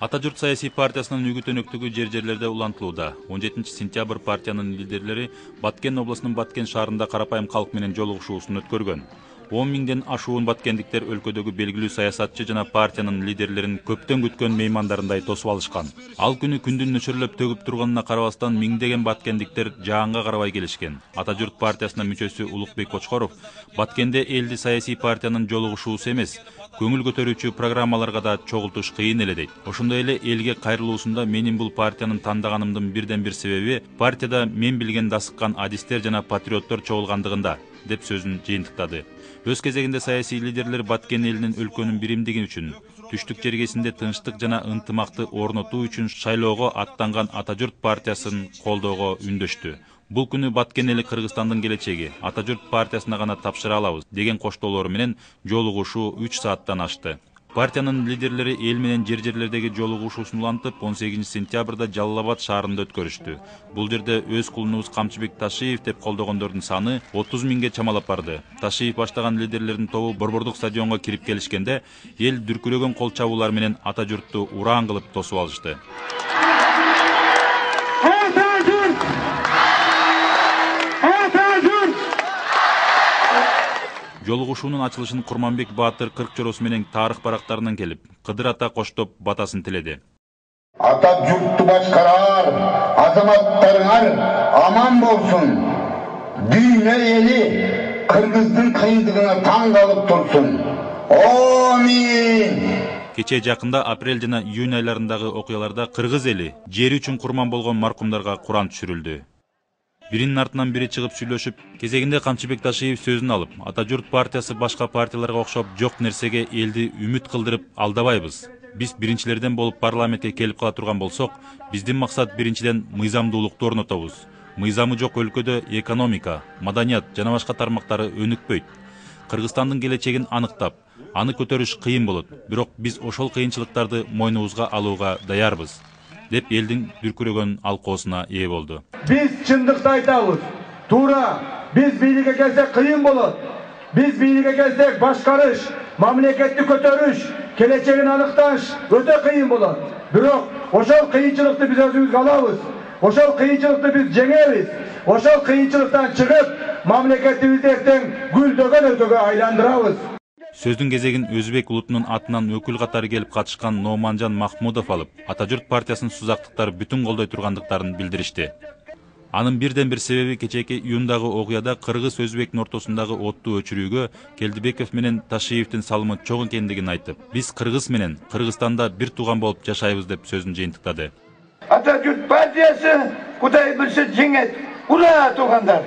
Ата журт саясий партиясынын үгүт-өнөктүгү жер-жерлерде улантылууда. 17 сентябрь партиянын лидерлери Баткен областынын Баткен шаарында карапайым калк менен жолугушуусун өткөргөн. 10 миңден ашуун баткендиктер өлкөдөгү белгилүү саясатчы жана партиянын лидерлерин көптөн күткөн меймандарындай тосуп алышкан. Ал күнү күндүн нөчөрлөп төгүп турганына карабастан миңдеген баткендиктер жаанга карабай келишкен. Ата журт партиясынын мүчөсү Улукбек Кочкоров Баткенде элди саясий партиянын жолугушуусу эмес, көңүл көтөрүүчү программаларга да чогултуш кыйын эле дейт. Ошондой эле элге кайрылуусунда менин бул партиянын тандаганымдын бирден бир себеби партияда мен билген дасыккан адистер жана патриоттор чогулгандыгында деп сөзүн жыйынтыктады. Өз кезегинде саясий лидерлер Баткен элинин өлкөнүн биримдиги үчүн, түштүк жергесинде тынчтык жана ынтымакты орнотуу үчүн шайлоого аттанган Ата журт партиясын колдоого үндөштү. Бул күнү Баткен эли Кыргызстандын келечеги, Ата журт партиясына гана тапшыра алабыз деген коштоолору менен жолугушуу 3 сааттан ашты. Партиянын лидерлери эл менен жер-жерлердеги жолугушуусун улантып 18 сентябрда Жалал Абад шаарында өткөрүштү. Бул жерде өз кулунубуз Камчыбек Ташиев деп колдогондордун саны 30 миңге чамалап барды. Ташиев баштаган лидерлердин тобу Борбордук стадионго кирип келишкенде эл дүркүрөгөн кол чабуулар менен Ата журтту ураан кылып тосуп алышты. Жолугушуунун ачылышын Курманбек Баатыр кырк чоросу менен тарых барактарынан келип, Кыдыр ата коштоп батасын тиледи. Ата журтту башкарар азаматтарыңар аман болсун. Дүйнө эли Кыргыздын кыйындыгына таң калып турсун. Амин. Кече жакында апрель жана июнь айларындагы окуяларда Кыргыз эли жери үчүн курман болгон маркумдарга Куран түшүрүлдү. Биринин артынан бири чыгып сүйлөшүп, кезегинде Камчыбек Ташиев сөзүн алып, Ата журт партиясы башка партияларга окшоп жок нерсеге элди үмүт кылдырып алдабайбыз. Биз биринчилерден болуп парламентке келип кала турган болсок, биздин максат биринчиден мыйзамдуулукту орнотобуз. Мыйзамы жок өлкөдө экономика, маданият жана башка тармактары өнүкпөйт. Кыргызстандын келечегин аныктап, аны көтөрүш кыйын болот, бирок биз ошол кыйынчылыктарды мойнубузга алууга даярбыз деп элдин дүркүрөгөн алкоосуна ээ болду. Биз чындыкты айтабыз. Туура, биз бийликке келсек кыйын болот. Биз бийликке келсек башкарыш, мамлекетти көтөрүш, келечегин аныкташ өтө кыйын болот. Бирок ошол кыйынчылыкты биз өзүбүзгө алабыз. Ошол кыйынчылыкты биз жеңебиз. Ошол кыйынчылыктан чыгып, мамлекетибизди эртең гүлдөгөн өлкөгө айландырабыз. Сөздүн кезегин Өзбек улутунун атынан өкүл катары келип катышкан Номанжан Махмудов алып, Ата журт партиясынын сузактыктары бүтүн колдой тургандыктарын билдиришти. Анын бирден бир себеби кечээки июндагы окуяда кыргыз-өзбектин ортосундагы оттуу өчүрүүгө Келдибеков менен Ташиевдин салымы чоң экендигин айтып, биз Кыргыз менен Кыргызстанда бир тууган болуп жашайбыз деп сөзүн жыйынтыктады. Ата журт партиясы Кудай билсе жеңет. Ура туугандар!